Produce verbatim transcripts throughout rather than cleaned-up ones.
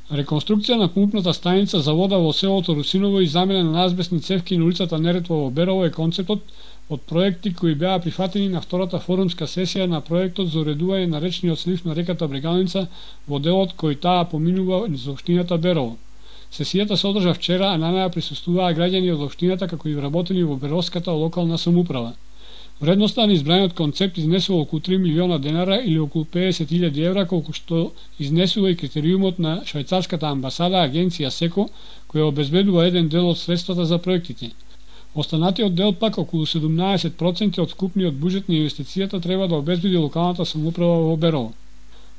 Реконструкција на пумпната станица за вода во селото Русиново и замена на азбестни цевки на улицата Неретва во Берово е концептот од проекти кои беа прифатени на втората форумска сесија на проектот за уредување на речниот слив на реката Брегалница во делот кој таа поминува низ општината Берово. Сесијата се одржа вчера, а на неа присуствуваа граѓани од општината како и вработени во Беровската локална самоуправа. Вредноста на избраниот концепт изнесува околу три милиона денара или околу педесет илјади евра, колку што изнесува и критериумот на швајцарската амбасада агенција СЕКО, која обезбедува еден дел од средствата за проектите. Останатиот дел пак, околу седумнаесет проценти од вкупниот буџет на инвестицијата, треба да обезбеди локалната самоуправа во Берово.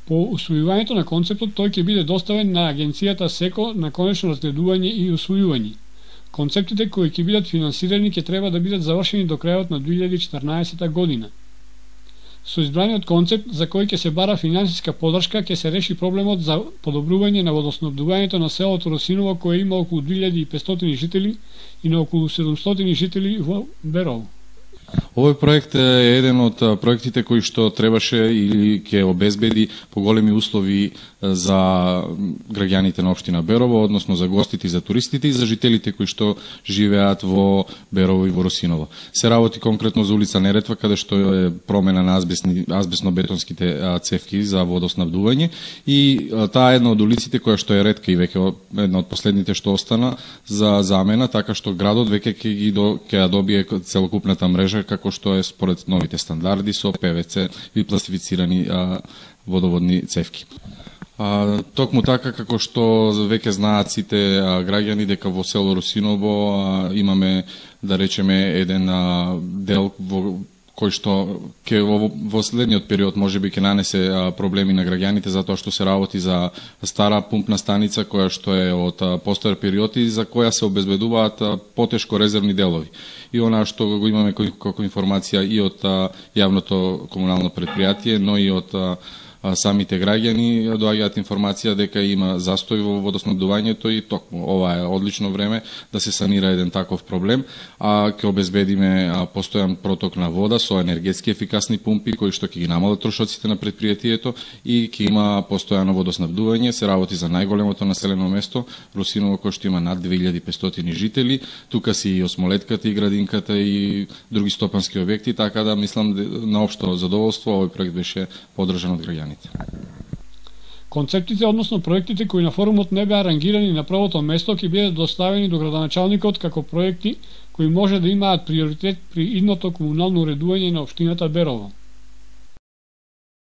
По усвојувањето на концептот, тој ќе биде доставен на агенцијата СЕКО на конечно разгледување и усвојување. Концептите кои ќе бидат финансирани ќе треба да бидат завршени до крајот на две илјади и четрнаесета година. Со избраниот концепт, за кој ќе се бара финансиска поддршка, ќе се реши проблемот за подобрување на водоснабдувањето на селото Росиново, кое има околу две илјади и петстотини жители и на околу седумстотини жители во Берово. Овој проект е еден од проектите кои што требаше или ќе обезбеди поголеми услови за граѓаните на општина Берово, односно за гостите и за туристите и за жителите кои што живеат во Берово и во Русиново. Се работи конкретно за улица Неретва, каде што е промена на азбестни, азбестно-бетонските цевки за водоснабдување и таа е една од улиците која што е ретка и веќе една од последните што остана за замена, така што градот веќе ќе ги до, ќе ја добие целокупната мрежа како што е според новите стандарди со ПВЦ и пластифицирани а, водоводни цевки. А, токму така како што веќе знаат сите а, граѓани дека во село Русиново а, имаме, да речеме, еден а, дел во кој што ќе во, во следниот период можеби ќе нанесе а, проблеми на граѓаните затоа што се работи за стара пумпна станица која што е од а, постар период и за која се обезбедуваат а, потешко резервни делови. И она што го имаме како информација и од а, јавното комунално предпријатие, но и од а, самите граѓани доаѓаат информација дека има застој во водоснабдувањето и токму ова е одлично време да се санира еден таков проблем, а ќе обезбедиме постојан проток на вода со енергетски ефикасни пумпи кои што ќе ги намалат трошоците на предпријатието и ќе има постојано водоснабдување. Се работи за најголемото населено место Русиново, кој што има над две илјади и петстотини жители. Тука си и осмолетката и градинката и други стопански објекти, така да мислам на општо задоволство овој проект беше поддржан од граѓаните. Концептите, односно проектите кои на форумот не беа рангирани на првото место, ќе бидат доставени до градоначалникот како проекти кои може да имаат приоритет при идното комунално уредување на општината Берово.